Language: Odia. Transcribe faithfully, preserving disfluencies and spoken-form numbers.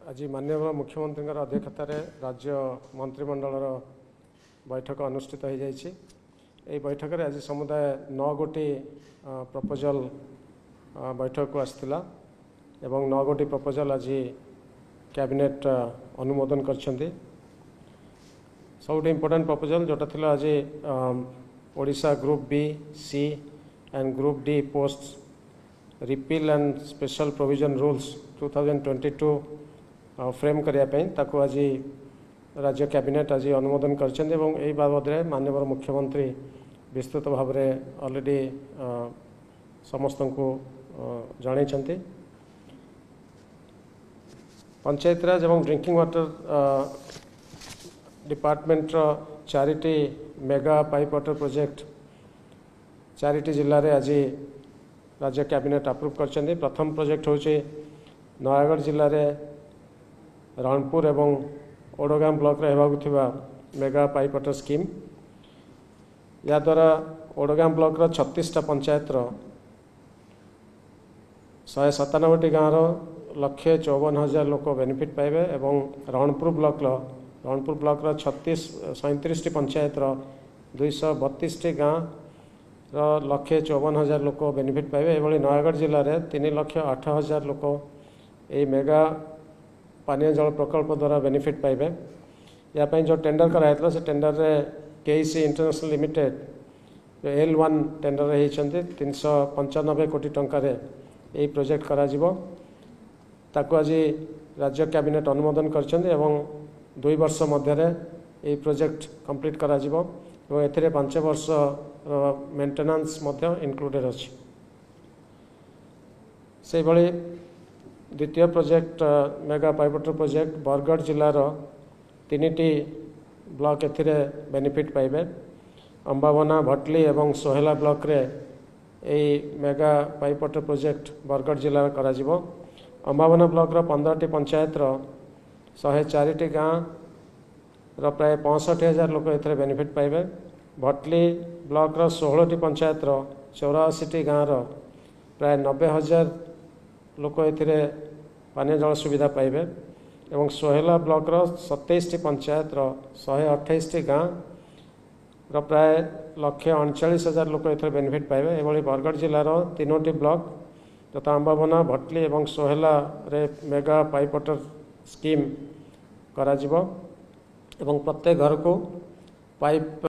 ଆଜି ମାନ୍ୟବର ମୁଖ୍ୟମନ୍ତ୍ରୀଙ୍କର ଅଧ୍ୟକ୍ଷତାରେ ରାଜ୍ୟ ମନ୍ତ୍ରିମଣ୍ଡଳର ବୈଠକ ଅନୁଷ୍ଠିତ ହୋଇଯାଇଛି। ଏହି ବୈଠକରେ ଆଜି ସମୁଦାୟ ନଅ ଗୋଟି ପ୍ରପୋଜାଲ ବୈଠକକୁ ଆସିଥିଲା ଏବଂ ନଅ ଗୋଟି ପ୍ରପୋଜାଲ ଆଜି କ୍ୟାବିନେଟ୍ ଅନୁମୋଦନ କରିଛନ୍ତି। ସବୁଠୁ ଇମ୍ପୋର୍ଟାଣ୍ଟ ପ୍ରପୋଜାଲ ଯେଉଁଟା ଥିଲା ଆଜି Odisha Group B, C and Group D post Repeal and Special Provision Rules two thousand twenty two frame କରିବା ପାଇଁ ତାକୁ ଆଜି ରାଜ୍ୟ କ୍ୟାବିନେଟ୍ ଆଜି ଅନୁମୋଦନ କରିଛନ୍ତି ଏବଂ ଏହି ବାବଦରେ ମାନ୍ୟବର ମୁଖ୍ୟମନ୍ତ୍ରୀ ବିସ୍ତୃତ ଭାବରେ ଅଲରେଡ଼ି ସମସ୍ତଙ୍କୁ ଜଣାଇଛନ୍ତି। ପଞ୍ଚାୟତିରାଜ ଏବଂ ଡ୍ରିଙ୍କିଂ ୱାଟର ଡିପାର୍ଟମେଣ୍ଟର ଚାରିଟି ମେଗା ପାଇପ୍ ୱାଟର ପ୍ରୋଜେକ୍ଟ ଚାରିଟି ଜିଲ୍ଲାରେ ଆଜି ରାଜ୍ୟ କ୍ୟାବିନେଟ୍ ଆପ୍ରୁଭ୍ କରିଛନ୍ତି। ପ୍ରଥମ ପ୍ରୋଜେକ୍ଟ ହେଉଛି ନୟାଗଡ଼ ଜିଲ୍ଲାରେ ରଣପୁର ଏବଂ ଓଡ଼ଗାଁ ବ୍ଲକରେ ହେବାକୁ ଥିବା ମେଗା ପାଇପ୍ ୱାଟର ସ୍କିମ୍। ଏହାଦ୍ୱାରା ଓଡ଼ଗାଁ ବ୍ଲକର ଛତିଶଟା ପଞ୍ଚାୟତର ଶହେ ସତାନବେଟି ଗାଁର ଲକ୍ଷେ ଚଉବନ ହଜାର ଲୋକ ବେନିଫିଟ୍ ପାଇବେ ଏବଂ ରଣପୁର ବ୍ଲକର ରଣପୁର ବ୍ଲକର ଛତିଶ ସଇଁତିରିଶଟି ପଞ୍ଚାୟତର ଦୁଇଶହ ବତିଶଟି ଗାଁର ଲକ୍ଷେ ଚଉବନ ହଜାର ଲୋକ ବେନିଫିଟ୍ ପାଇବେ। ଏଭଳି ନୟାଗଡ଼ ଜିଲ୍ଲାରେ ତିନି ଲକ୍ଷ ଆଠ ହଜାର ଲୋକ ଏହି ମେଗା ପାନୀୟ ଜଳ ପ୍ରକଳ୍ପ ଦ୍ୱାରା ବେନିଫିଟ୍ ପାଇବେ। ଏହା ପାଇଁ ଯେଉଁ ଟେଣ୍ଡର କରାଯାଇଥିଲା, ସେ ଟେଣ୍ଡରରେ KEC international limited L one tender ହେଇଛନ୍ତି। ତିନିଶହ ପଞ୍ଚାନବେ କୋଟି ଟଙ୍କାରେ ଏହି ପ୍ରୋଜେକ୍ଟ କରାଯିବ। ତାକୁ ଆଜି ରାଜ୍ୟ କ୍ୟାବିନେଟ୍ ଅନୁମୋଦନ କରିଛନ୍ତି ଏବଂ ଦୁଇ ବର୍ଷ ମଧ୍ୟରେ ଏହି ପ୍ରୋଜେକ୍ଟ କମ୍ପ୍ଲିଟ୍ କରାଯିବ ଏବଂ ଏଥିରେ ପାଞ୍ଚ ବର୍ଷର ମେଣ୍ଟେନାନ୍ସ ମଧ୍ୟ ଇନକ୍ଲୁଡେଡ଼ ଅଛି। ସେହିଭଳି ଦ୍ୱିତୀୟ project, mega pipe water project, Bargarh ଜିଲ୍ଲାର ତିନିଟି ବ୍ଲକ ଏଥିରେ ବେନିଫିଟ୍ ପାଇବେ। ଅମ୍ବାଭୋନା, ଭଟଲି ଏବଂ ସୋହେଲା ବ୍ଲକରେ ଏହି mega pipe water project Bargarh ଜିଲ୍ଲାରେ କରାଯିବ। ଅମ୍ବାଭୋନା ବ୍ଲକର ପନ୍ଦରଟି ପଞ୍ଚାୟତର ଶହେ ଚାରିଟି ଗାଁର ପ୍ରାୟ ପଞ୍ଚଷଠି ହଜାର ଲୋକ ଏଥିରେ ବେନିଫିଟ୍ ପାଇବେ। ଭଟଲି ବ୍ଲକର ଷୋହଳଟି ପଞ୍ଚାୟତର ଚଉରାଅଶୀଟି ଗାଁର ପ୍ରାୟ ନବେ ହଜାର ଲୋକ ଏଥିରେ ପାନୀୟ ଜଳ ସୁବିଧା ପାଇବେ ଏବଂ ସୋହେଲା ବ୍ଲକର ସତେଇଶଟି ପଞ୍ଚାୟତର ଶହେ ଅଠେଇଶଟି ଗାଁର ପ୍ରାୟ ଲକ୍ଷେ ଅଣଚାଳିଶ ହଜାର ଲୋକ ଏଥିରେ ବେନିଫିଟ୍ ପାଇବେ। ଏଭଳି ବରଗଡ଼ ଜିଲ୍ଲାର ତିନୋଟି ବ୍ଲକ ଯଥା ଆମ୍ବାଭୋନା, ଭଟଲି ଏବଂ ସୋହେଲାରେ ମେଗା ପାଇପ୍ ୱାଟର ସ୍କିମ୍ କରାଯିବ ଏବଂ ପ୍ରତ୍ୟେକ ଘରକୁ ପାଇପ୍